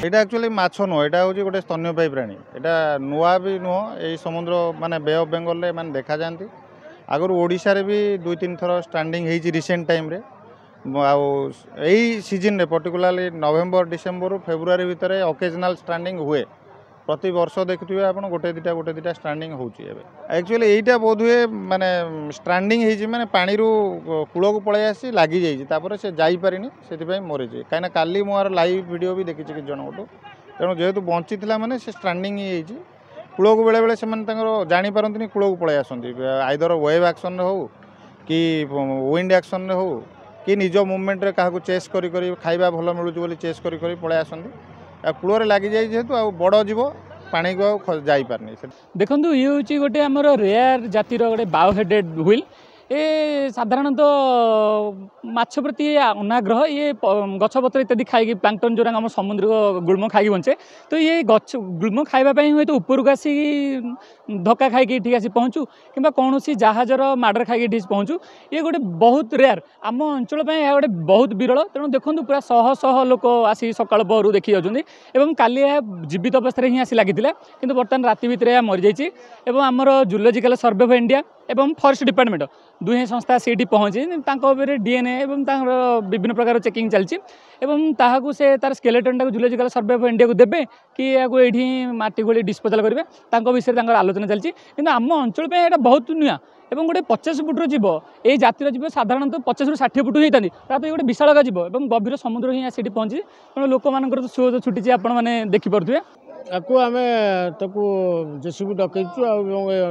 ଏଇଟା ଆକ୍ଚୁଆଲି ମାଛ ନୁହଁ, ଏଇଟା ହେଉଛି ଗୋଟେ ସ୍ତନ୍ୟପାୟୀ ପ୍ରାଣୀ। ଏଇଟା ନୂଆ ବି ନୁହଁ, ଏଇ ସମୁଦ୍ର ମାନେ ବେ ଅଫ୍ ବେଙ୍ଗଲରେ ଏମାନେ ଦେଖାଯାଆନ୍ତି। ଆଗରୁ ଓଡ଼ିଶାରେ ବି 2-3 ଥର ଷ୍ଟାଣ୍ଡିଂ ହେଇଛି ରିସେଣ୍ଟ ଟାଇମ୍ରେ। ଆଉ ଏଇ ସିଜନ୍ରେ ପର୍ଟିକୁଲାରଲି ନଭେମ୍ବର ଡିସେମ୍ବରରୁ ଫେବୃଆରୀ ଭିତରେ ଅକେଜନାଲ୍ ଷ୍ଟାଣ୍ଡିଂ ହୁଏ। ପ୍ରତିବର୍ଷ ଦେଖୁଥିବେ ଆପଣ ଗୋଟେ ଦୁଇଟା ଷ୍ଟାଣ୍ଡିଂ ହେଉଛି। ଏବେ ଆକ୍ଚୁଆଲି ଏଇଟା ବୋଧହୁଏ ମାନେ ଷ୍ଟାଣ୍ଡିଂ ହେଇଛି, ମାନେ ପାଣିରୁ କୂଳକୁ ପଳେଇ ଆସି ଲାଗିଯାଇଛି, ତାପରେ ସେ ଯାଇପାରିନି, ସେଥିପାଇଁ ମରିଛି। କାହିଁକିନା କାଲି ମୁଁ ଆର ଲାଇଭ୍ ଭିଡ଼ିଓ ବି ଦେଖିଛି କିଛି ଜଣଙ୍କଠୁ। ତେଣୁ ଯେହେତୁ ବଞ୍ଚିଥିଲା ମାନେ ସେ ଷ୍ଟାଣ୍ଡିଂ ହେଇଯାଇଛି। କୂଳକୁ ବେଳେବେଳେ ସେମାନେ ତାଙ୍କର ଜାଣିପାରନ୍ତିନି, କୂଳକୁ ପଳେଇ ଆସନ୍ତି, ଆଇଦର ୱେଭ୍ ଆକ୍ସନ୍ରେ ହେଉ କି ୱିଣ୍ଡ ଆକ୍ସନ୍ରେ ହେଉ କି ନିଜ ମୁଭମେଣ୍ଟରେ କାହାକୁ ଚେସ୍ କରି କରି ଖାଇବା ଭଲ ମିଳୁଛି ବୋଲି ଚେସ୍ କରି କରି ପଳେଇ ଆସନ୍ତି। ଆଉ କୂଳରେ ଲାଗିଯାଇଛି ଯେହେତୁ ଆଉ ବଡ଼ ଜୀବ ପାଣିକୁ ଆଉ ଯାଇପାରୁନି। ଦେଖନ୍ତୁ, ଇଏ ହେଉଛି ଗୋଟେ ଆମର ରେୟାର ଜାତିର ଗୋଟେ ବାଓ ହେଡେଡ୍ ହ୍ୱିଲ୍। ଏ ସାଧାରଣତଃ ମାଛ ପ୍ରତି ଅନାଗ୍ରହ, ଇଏ ଗଛପତ୍ର ଇତ୍ୟାଦି ଖାଇକି, ପ୍ଲାଙ୍କଟନ୍ ଯେଉଁଟା ଆମ ସମୁଦ୍ରିକ ଗୁଳ୍ମ ଖାଇକି ବଞ୍ଚେ। ତ ଇଏ ଗଛ ଗୁଳ୍ମ ଖାଇବା ପାଇଁ ହୁଏତ ଉପରକୁ ଆସିକି ଧକ୍କା ଖାଇକି ଏଠିକି ଆସି ପହଞ୍ଚୁ କିମ୍ବା କୌଣସି ଜାହାଜର ମାଡ଼ରେ ଖାଇକି ଏଠି ପହଞ୍ଚୁ। ଇଏ ଗୋଟେ ବହୁତ ରେୟାର, ଆମ ଅଞ୍ଚଳ ପାଇଁ ଏହା ଗୋଟେ ବହୁତ ବିରଳ। ତେଣୁ ଦେଖନ୍ତୁ, ପୁରା ଶହ ଶହ ଲୋକ ଆସି ସକାଳ ପହରୁ ଦେଖି ଯାଉଛନ୍ତି ଏବଂ କାଲି ଏହା ଜୀବିତ ଅବସ୍ଥାରେ ହିଁ ଆସି ଲାଗିଥିଲା, କିନ୍ତୁ ବର୍ତ୍ତମାନ ରାତି ଭିତରେ ଏହା ମରିଯାଇଛି। ଏବଂ ଆମର ଜୁଲୋଜିକାଲ ସର୍ଭେ ଅଫ୍ ଇଣ୍ଡିଆ ଏବଂ ଫରେଷ୍ଟ ଡିପାର୍ଟମେଣ୍ଟ ଦୁହେଁ ସଂସ୍ଥା ସେଇଠି ପହଞ୍ଚି ତାଙ୍କ ଉପରେ ଡିଏନ୍ଏ ଏବଂ ତାଙ୍କର ବିଭିନ୍ନ ପ୍ରକାର ଚେକିଂ ଚାଲିଛି ଏବଂ ତାହାକୁ ସେ ତାର ସ୍କେଲେଟନ୍ଟାକୁ ଜୁଲୋଜିକାଲ ସର୍ଭେ ଅଫ୍ ଇଣ୍ଡିଆକୁ ଦେବେ କି ଏହାକୁ ଏଇଠି ମାଟି ଖୋଳି ଡିସ୍ପୋଜାଲ୍ କରିବେ, ତାଙ୍କ ବିଷୟରେ ତାଙ୍କର ଆଲୋଚନା ଚାଲିଛି। କିନ୍ତୁ ଆମ ଅଞ୍ଚଳ ପାଇଁ ଏଇଟା ବହୁତ ନୂଆ ଏବଂ ଗୋଟେ 50 ଫୁଟର ଜୀବ, ଏଇ ଜାତିର ଜୀବ ସାଧାରଣତଃ 50ରୁ 60 ଫୁଟ ହେଇଥାନ୍ତି, ତା ତ ଗୋଟେ ବିଶାଳକା ଜୀବ ଏବଂ ଗଭୀର ସମୁଦ୍ର ହିଁ ସେଠି ପହଞ୍ଚି। ତେଣୁ ଲୋକମାନଙ୍କର ତ ସୁଅ ଛୁଟିଛି, ଆପଣମାନେ ଦେଖିପାରୁଥିବେ। ଆକୁ ଆମେ ତାକୁ ଜେସିବି ଡକେଇଛୁ ଆଉ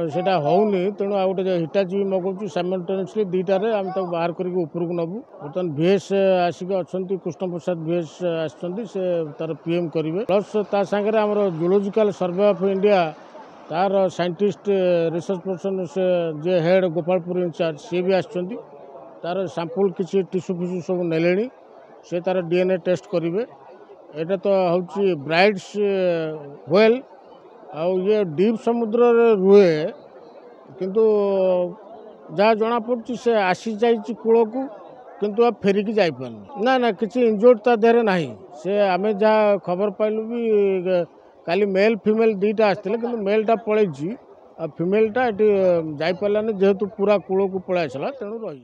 ସେଇଟା ହେଉନି, ତେଣୁ ଆଉ ଗୋଟେ ହିଟାଚି ବି ମଗାଉଛୁ। ସାଇମଲ୍ଟେନିୟସଲି ଦୁଇଟାରେ ଆମେ ତାକୁ ବାହାର କରିକି ଉପରକୁ ନେବୁ। ବର୍ତ୍ତମାନ ଭିଏସ୍ ଆସିକି ଅଛନ୍ତି, କୃଷ୍ଣପ୍ରସାଦ ଭିଏସ୍ ଆସିଛନ୍ତି, ସେ ତାର ପିଏମ୍ କରିବେ। ପ୍ଲସ୍ ତା ସାଙ୍ଗରେ ଆମର ଜୁଲୋଜିକାଲ ସର୍ଭେ ଅଫ୍ ଇଣ୍ଡିଆ ତାର ସାଇଣ୍ଟିଷ୍ଟ ରିସର୍ଚ୍ଚ ପର୍ସନ୍ ସେ ଯିଏ ହେଡ଼୍ ଗୋପାଳପୁର ଇନଚାର୍ଜ, ସିଏ ବି ଆସିଛନ୍ତି। ତାର ସାମ୍ପୁଲ୍ କିଛି ଟିସୁ ଫିସୁ ସବୁ ନେଲେଣି, ସେ ତାର ଡିଏନ୍ଏ ଟେଷ୍ଟ କରିବେ। ଏଇଟା ତ ହେଉଛି ବ୍ରାଇଡ୍ସ ହ୍ୱେଲ୍, ଆଉ ଇଏ ଡିପ୍ ସମୁଦ୍ରରେ ରୁହେ, କିନ୍ତୁ ଯାହା ଜଣାପଡ଼ୁଛି ସେ ଆସିଯାଇଛି କୂଳକୁ, କିନ୍ତୁ ଆଉ ଫେରିକି ଯାଇପାରୁନି। ନା ନା, କିଛି ଇଞ୍ଜୋର୍ଡ଼ ତା ଦେହରେ ନାହିଁ। ସେ ଆମେ ଯାହା ଖବର ପାଇଲୁ ବି କାଲି ମେଲ୍ ଫିମେଲ୍ ଦୁଇଟା ଆସିଥିଲେ, କିନ୍ତୁ ମେଲ୍ଟା ପଳେଇଛି ଆଉ ଫିମେଲ୍ଟା ଏଠି ଯାଇପାରିଲାନି, ଯେହେତୁ ପୁରା କୂଳକୁ ପଳେଇ ଆସିଲା ତେଣୁ ରହିଛି।